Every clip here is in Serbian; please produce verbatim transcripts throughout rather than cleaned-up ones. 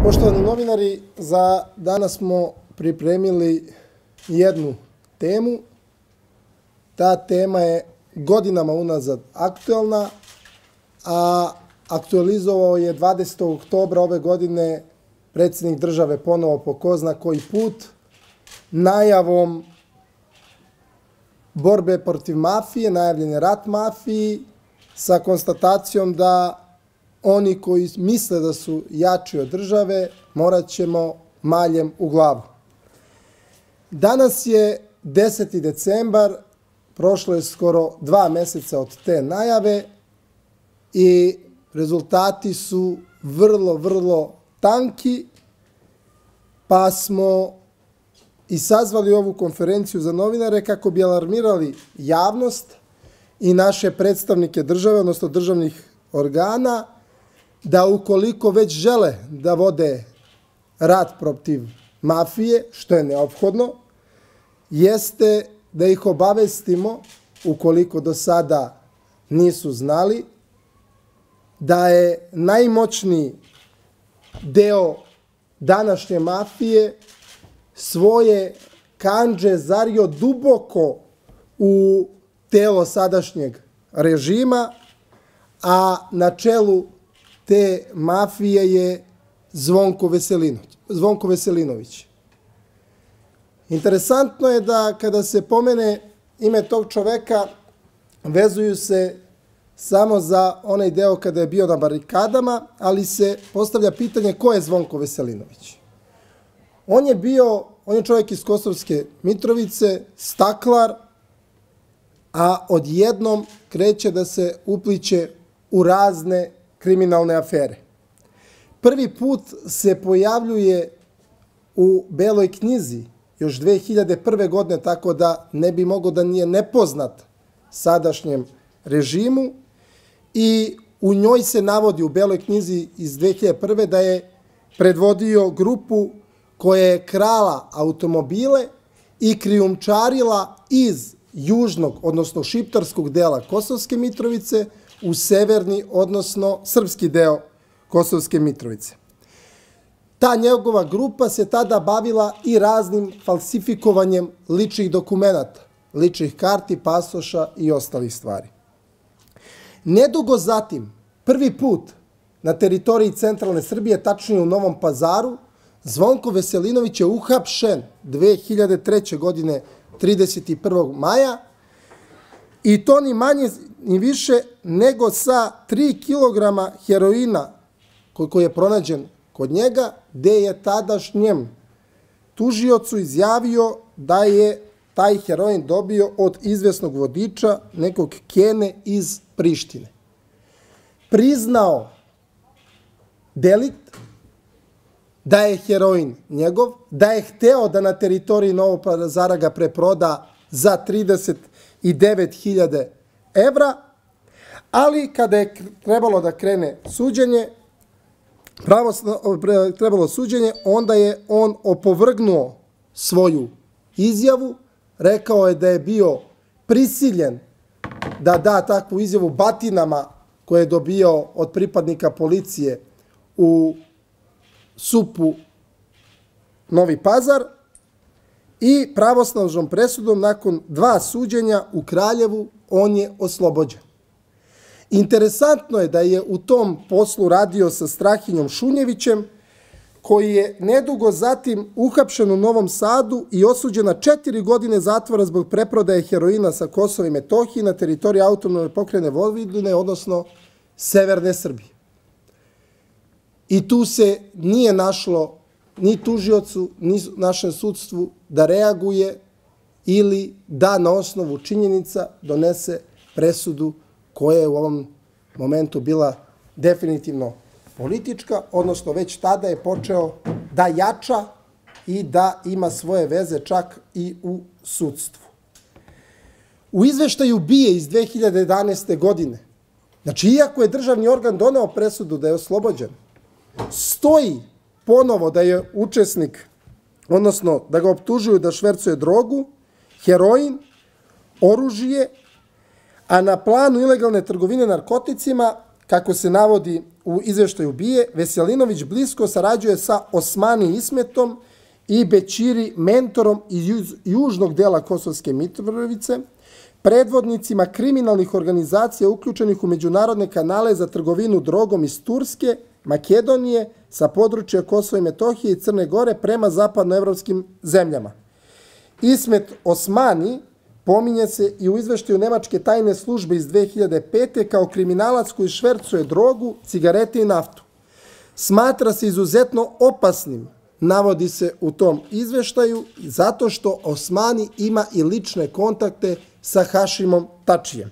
Poštovani novinari, za danas smo pripremili jednu temu. Ta tema je godinama unazad aktuelna, a aktualizovao je dvadesetog oktobra ove godine predsjednik države ponovo po ko zna koji put najavom borbe protiv mafije, najavljen je rat mafiji sa konstatacijom da oni koji misle da su jači od države morat ćemo maljem u glavu. Danas je deseti decembar, prošlo je skoro dva meseca od te najave i rezultati su vrlo, vrlo tanki, pa smo i sazvali ovu konferenciju za novinare kako bi alarmirali javnost i naše predstavnike države, odnosno državnih organa, da ukoliko već žele da vode rat protiv mafije, što je neophodno, jeste da ih obavestimo, ukoliko do sada nisu znali, da je najmoćniji deo današnje mafije svoje kandže zario duboko u telo sadašnjeg režima, a na čelu te mafije je Zvonko Veselinović. Zvonko Veselinović. Interesantno je da kada se pomene ime tog čoveka, vezuju se samo za onaj deo kada je bio na barikadama, ali se postavlja pitanje ko je Zvonko Veselinović. On je bio, on je čovjek iz Kosovske Mitrovice, staklar, a odjednom kreće da se upliće u razne kriminalne afere. Prvi put se pojavljuje u Beloj knjizi još dve hiljade prve. godine, tako da ne bi mogao da nije nepoznat sadašnjem režimu, i u njoj se navodi, u Beloj knjizi iz dve hiljade prve. da je predvodio grupu koja je krala automobile i krijumčarila iz južnog, odnosno šiptarskog dela Kosovske Mitrovice u severni, odnosno srpski deo Kosovske Mitrovice. Ta njegova grupa se tada bavila i raznim falsifikovanjem ličnih dokumenata, ličnih karti, pasoša i ostalih stvari. Nedugo zatim, prvi put na teritoriji centralne Srbije, tačnije u Novom Pazaru, Zvonko Veselinović je uhapšen dve hiljade treće. godine, trideset prvog maja, i to ni manje ni više nego sa tri kilograma heroina koji je pronađen kod njega, gde je tadašnjem tužiocu izjavio da je taj heroin dobio od izvesnog vodiča, nekog Kene iz Prištine. Priznao delikt, da je heroin njegov, da je hteo da na teritoriji Novog Pazara ga preproda za trideset devet hiljada evra, ali kada je trebalo da krene suđenje, trebalo suđenje, onda je on opovrgnuo svoju izjavu, rekao je da je bio prisiljen da da takvu izjavu batinama koje je dobio od pripadnika policije u S U P-u Novi Pazar, i pravosnažnom presudom nakon dva suđenja u Kraljevu on je oslobođen. Interesantno je da je u tom poslu radio sa Strahinjom Šunjevićem, koji je nedugo zatim uhapšen u Novom Sadu i osuđen na četiri godine zatvora zbog preprodaje heroina sa Kosova i Metohije na teritoriji autonomne pokrajine Vojvodine, odnosno severne Srbije. I tu se nije našlo ni tužiocu, ni našem sudstvu da reaguje ili da na osnovu činjenica donese presudu koja je u ovom momentu bila definitivno politička, odnosno već tada je počeo da jača i da ima svoje veze čak i u sudstvu. U izveštaju B I A iz dve hiljade jedanaeste. godine, znači iako je državni organ doneo presudu da je oslobođen, stoji ponovo da je učesnik, odnosno da ga optužuju da švercuje drogu, heroin, oružje, a na planu ilegalne trgovine narkoticima kako se navodi u izveštaju B I E, Veselinović blisko sarađuje sa Osmani Ismetom i Bećiri mentorom iz južnog dela Kosovske Mitrovice, predvodnicima kriminalnih organizacija uključenih u međunarodne kanale za trgovinu drogom iz Turske, Makedonije, sa područja Kosova i Metohije i Crne Gore prema zapadnoevropskim zemljama. Ismet Osmani pominje se i u izveštaju Nemačke tajne službe iz dve hiljade pete. kao kriminalac koji švercuje drogu, cigarete i naftu. Smatra se izuzetno opasnim, navodi se u tom izveštaju, zato što Osmani ima i lične kontakte sa Hašimom Tačijem.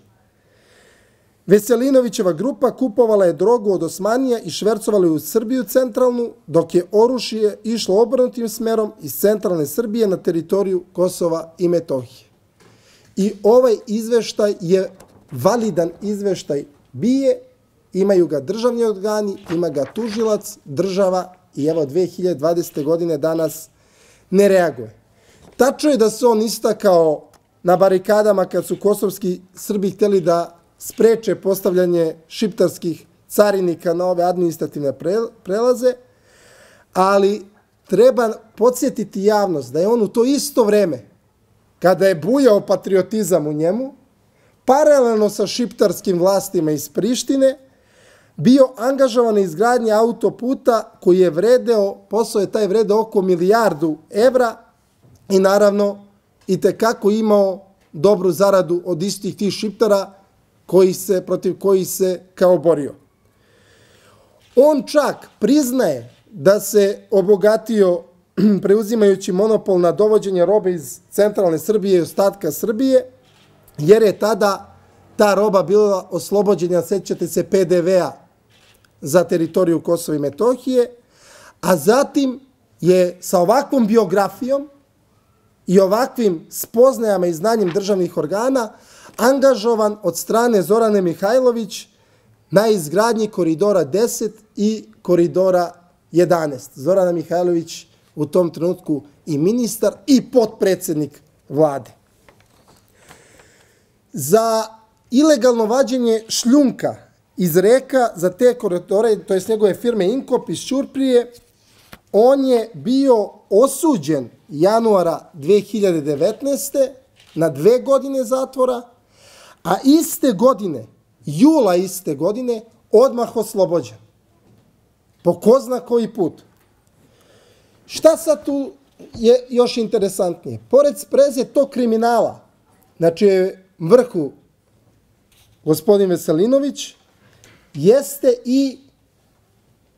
Veselinovićeva grupa kupovala je drogu od Osmanija i švercovala je u Srbiju centralnu, dok je oružje išlo obrnutim smerom iz centralne Srbije na teritoriju Kosova i Metohije. I ovaj izveštaj je validan izveštaj B I E, imaju ga državni organi, ima ga tužilac, država i evo dve hiljade dvadesete. godine danas ne reaguje. Tačno je da se on istakao na barikadama kad su kosovski Srbi hteli da spreče postavljanje šiptarskih carinika na ove administrativne prelaze, ali treba podsjetiti javnost da je on u to isto vreme, kada je bujao patriotizam u njemu, paralelno sa šiptarskim vlastima iz Prištine, bio angažovan na izgradnji autoputa koji je vredeo, posao je taj vredeo oko milijardu evra i naravno i tekako imao dobru zaradu od istih tih šiptara koji se, protiv kojih se kao borio. On čak priznaje da se obogatio preuzimajući monopol na dovođenje robe iz centralne Srbije i ostatka Srbije, jer je tada ta roba bila oslobođena, sećate se, P D V-a za teritoriju Kosova i Metohije, a zatim je sa ovakvom biografijom i ovakvim spoznajama i znanjem državnih organa angažovan od strane Zorane Mihajlović na izgradnji Koridora deset i Koridora jedanaest. Zorana Mihajlović u tom trenutku i ministar i potpredsednik vlade. Za ilegalno vađenje šljunka iz reka za te koridore, to je njegove firme Inkop iz Ćuprije, on je bio osuđen januara dve hiljade devetnaeste. na dve godine zatvora, a iste godine, jula iste godine, odmah oslobođen. Po ko zna koji put. Šta sad tu je još interesantnije? Pored spreze tog kriminala, znači vrhu gospodin Veselinović, jeste i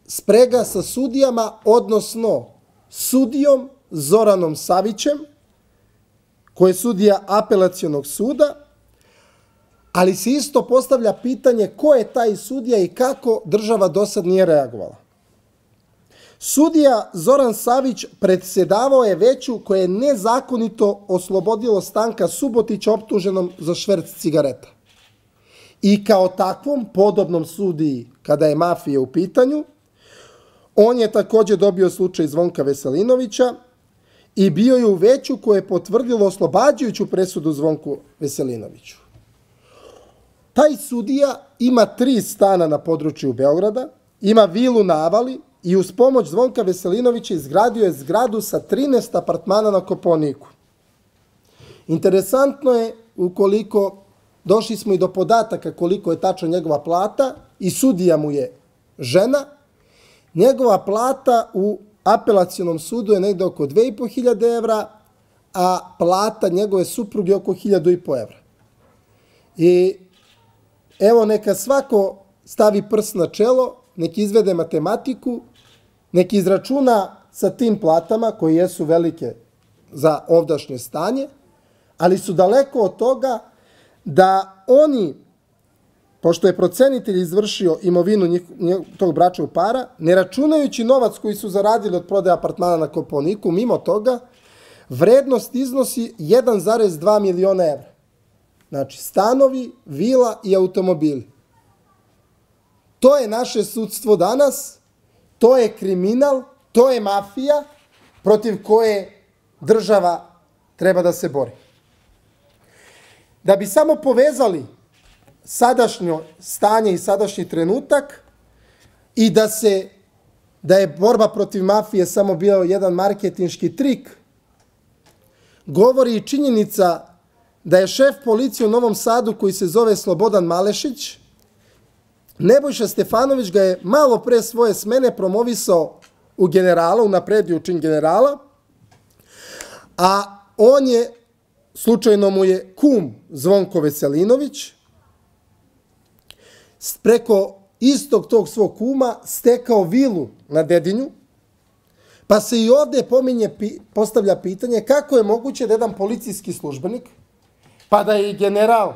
sprega sa sudijama, odnosno sudijom Zoranom Savićem, koji je sudija apelacionog suda, ali se isto postavlja pitanje ko je taj sudija i kako država do sad nije reagovala. Sudija Zoran Savić predsedavao je veću koje je nezakonito oslobodilo Stanka Subotića optuženom za šverc cigareta. I kao takvom podobnom sudiji, kada je mafija u pitanju, on je također dobio slučaj Zvonka Veselinovića i bio je u veću koje je potvrdilo oslobađajuću presudu Zvonku Veselinoviću. Taj sudija ima tri stana na području Beograda, ima vilu na Avali i uz pomoć Zvonka Veselinovića izgradio je zgradu sa trinaest apartmana na Kopaoniku. Interesantno je, ukoliko došli smo i do podataka koliko je tačno njegova plata i sudija mu je žena, njegova plata u apelacionom sudu je negde oko dve i po hiljade evra, a plata njegove supruge oko hiljadu i po evra. I evo neka svako stavi prst na čelo, neki izvede matematiku, neki izračuna sa tim platama koje jesu velike za ovdašnje stanje, ali su daleko od toga da oni, pošto je procenitelj izvršio imovinu tog bračnog para, ne računajući novac koji su zaradili od prodaje apartmana na Kopaoniku, mimo toga, vrednost iznosi jedan zarez dva miliona evra. Znači, stanovi, vila i automobili. To je naše sudstvo danas, to je kriminal, to je mafija protiv koje država treba da se bori. Da bi samo povezali sadašnje stanje i sadašnji trenutak i da se da je borba protiv mafije samo bio jedan marketinški trik, govori i činjenica da je šef policije u Novom Sadu koji se zove Slobodan Malešić, Nebojša Stefanović ga je malo pre svoje smene promovisao u generala, unapredio u čin generala, a on je, slučajno mu je kum Zvonko Veselinović, preko istog tog svog kuma stekao vilu na Dedinju, pa se i ovde pominje, postavlja pitanje kako je moguće da jedan policijski službenik, pa da je i general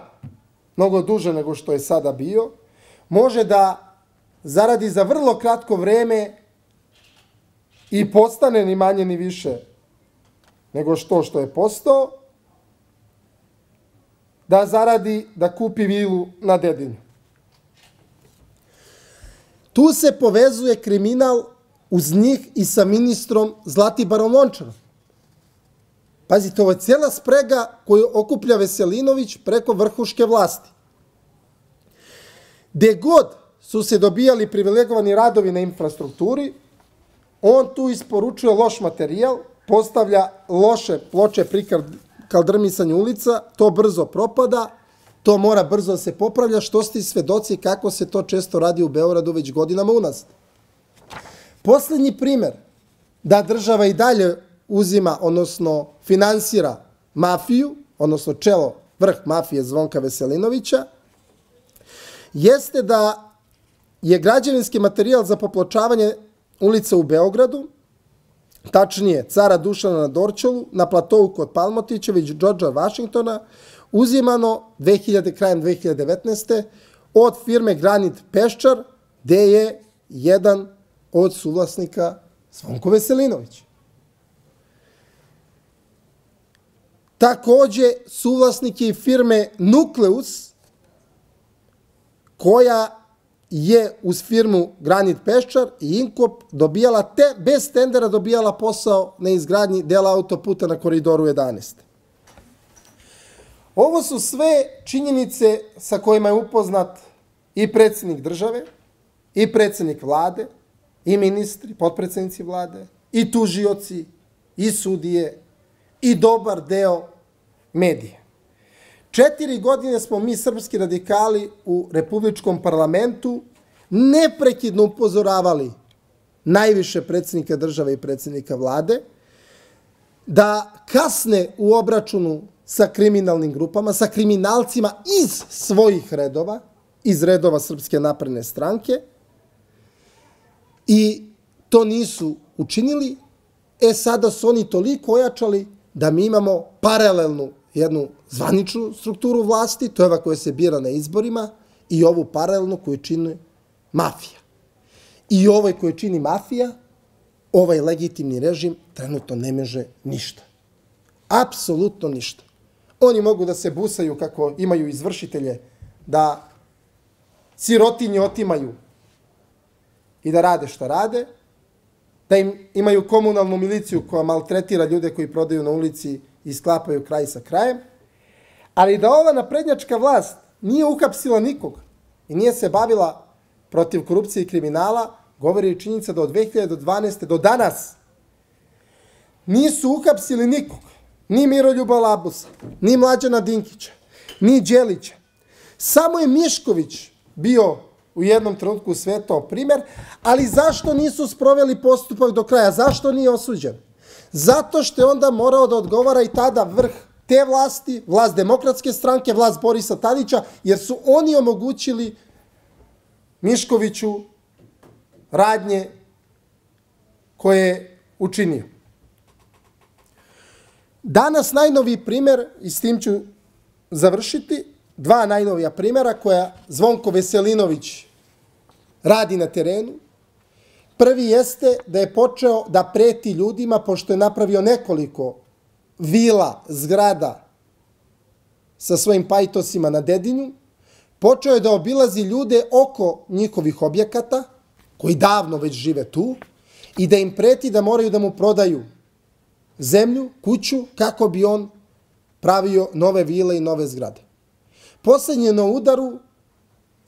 mnogo duže nego što je sada bio, može da zaradi za vrlo kratko vreme i postane ni manje ni više nego što što je postao, da zaradi da kupi vilu na Dedinju. Tu se povezuje kriminal uz njih i sa ministrom Zlatibarom Lončarom. Pazite, ovo je cijela sprega koju okuplja Veselinović preko vrhuške vlasti. Gde god su se dobijali privilegovani radovi na infrastrukturi, on tu isporučuje loš materijal, postavlja loše ploče pri kaldrmisanju ulica, to brzo propada, to mora brzo da se popravlja, što ste svedoci kako se to često radi u Beogradu već godinama unazad. Poslednji primer da država i dalje uzima, odnosno finansira mafiju, odnosno čelo vrh mafije Zvonka Veselinovića, jeste da je građevinski materijal za popločavanje ulica u Beogradu, tačnije Cara Dušana na Dorćolu, na platovu kod Palmotića, već Džordža Vašingtona, uzimano krajem dve hiljade devetnaeste. od firme Granit Peščar, gde je jedan od suvlasnika Zvonko Veselinović. Takođe, suvlasnik je i firme Nukleus, koja je uz firmu Granit Peščar i Inkop dobijala, te, bez tendera dobijala posao na izgradnji dela autoputa na Koridoru jedanaest. Ovo su sve činjenice sa kojima je upoznat i predsjednik države, i predsjednik vlade, i ministri, potpredsjednici vlade, i tužioci, i sudije, i dobar deo medija. Četiri godine smo mi, srpski radikali, u Republičkom parlamentu neprekidno upozoravali najviše predsjednika države i predsjednika vlade da kasne u obračunu sa kriminalnim grupama, sa kriminalcima iz svojih redova, iz redova Srpske napredne stranke, i to nisu učinili. E sada su oni toliko ojačali da mi imamo paralelnu jednu zvaničnu strukturu vlasti, to je ova koja se bira na izborima, i ovu paralelnu koju čini mafija. I ovoj koju čini mafija, ovaj legitimni režim trenutno ne može ništa. Apsolutno ništa. Oni mogu da se busaju kako imaju izvršitelje, da sirotinje otimaju i da rade šta rade, da im imaju komunalnu miliciju koja maltretira ljude koji prodaju na ulici i sklapaju kraj sa krajem, ali da ova naprednjačka vlast nije uhapsila nikog i nije se bavila protiv korupcije i kriminala, govori i činjenica da od dve hiljade dvanaeste. do danas nisu uhapsili nikog, ni Miroljuba Labusa, ni Mlađana Dinkića, ni Đelića. Samo je Mišković bio u jednom trenutku svetao primer, ali zašto nisu sproveli postupak do kraja? Zašto nije osuđen? Zato što je onda morao da odgovara i tada vrh te vlasti, vlast Demokratske stranke, vlast Borisa Tadića, jer su oni omogućili Miškoviću radnje koje je učinio. Danas najnoviji primer, i s tim ću završiti, dva najnovija primera koja Zvonko Veselinović radi na terenu. Prvi jeste da je počeo da preti ljudima, pošto je napravio nekoliko vila, zgrada sa svojim pajtosima na Dedinju, počeo je da obilazi ljude oko njihovih objekata, koji davno već žive tu, i da im preti da moraju da mu prodaju zemlju, kuću, kako bi on pravio nove vile i nove zgrade. Poslednji na udaru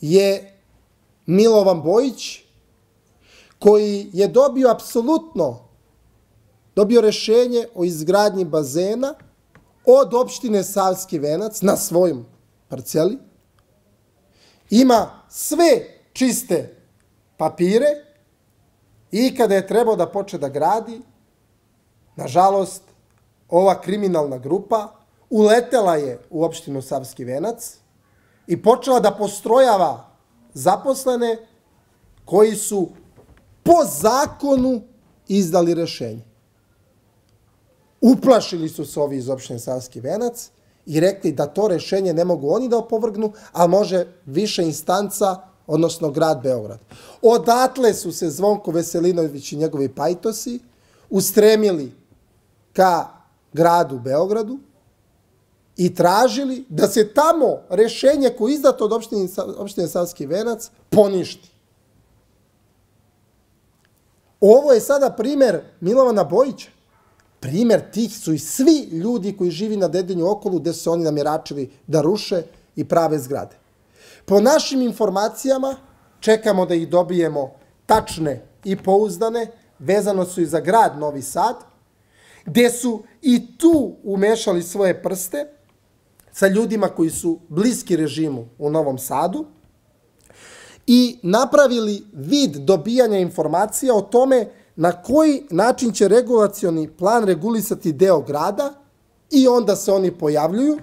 je Milovan Bojić, koji je dobio apsolutno, dobio rešenje o izgradnji bazena od opštine Savski Venac na svojom parceli, ima sve čiste papire i kada je trebao da počne da gradi, nažalost, ova kriminalna grupa uletela je u opštinu Savski Venac i počela da postrojava zaposlene koji su po zakonu izdali rešenje. Uplašili su se ovi iz opštine Savski Venac i rekli da to rešenje ne mogu oni da opovrgnu, a može više instanca, odnosno grad Beograd. Odatle su se Zvonko Veselinović i njegovi pajtosi ustremili ka gradu Beogradu i tražili da se tamo rešenje koje je izdato od opštine, opštine Savski Venac poništi. Ovo je sada primer Milovana Bojića. Primer tih su i svi ljudi koji živi na Dedinju okolu gde su se oni namjeračili da ruše i prave zgrade. Po našim informacijama, čekamo da ih dobijemo tačne i pouzdane, vezano su i za grad Novi Sad, gde su i tu umešali svoje prste sa ljudima koji su bliski režimu u Novom Sadu i napravili vid dobijanja informacija o tome na koji način će regulacioni plan regulisati deo grada i onda se oni pojavljuju.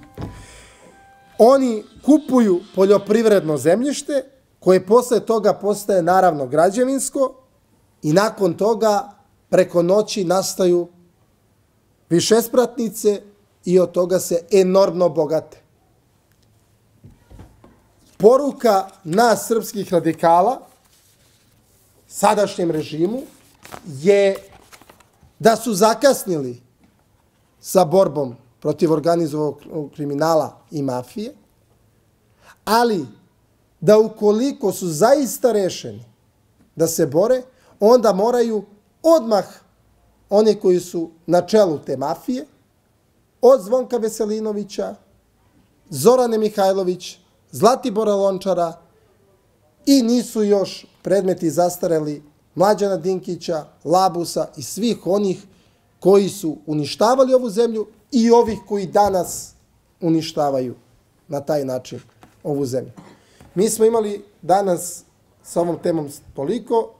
Oni kupuju poljoprivredno zemljište koje posle toga postaje naravno građevinsko i nakon toga preko noći nastaju višespratnice i od toga se enormno bogate. Poruka nas srpskih radikala sadašnjem režimu je da su zakasnili sa borbom protiv organizovanog kriminala i mafije, ali da ukoliko su zaista rešeni da se bore, onda moraju odmah oni koji su na čelu te mafije, od Zvonka Veselinovića, Zorane Mihajlović, Zlatibora Lončara i nisu još predmeti zastareli Mlađana Dinkića, Labusa i svih onih koji su uništavali ovu zemlju i ovih koji danas uništavaju na taj način ovu zemlju. Mi smo imali danas sa ovom temom toliko.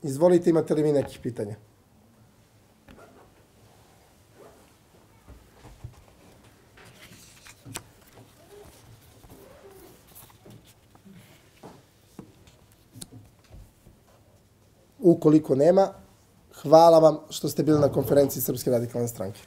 Izvolite, imate li vi nekih pitanja? Ukoliko nema, hvala vam što ste bili na konferenciji Srpske radikalne stranke.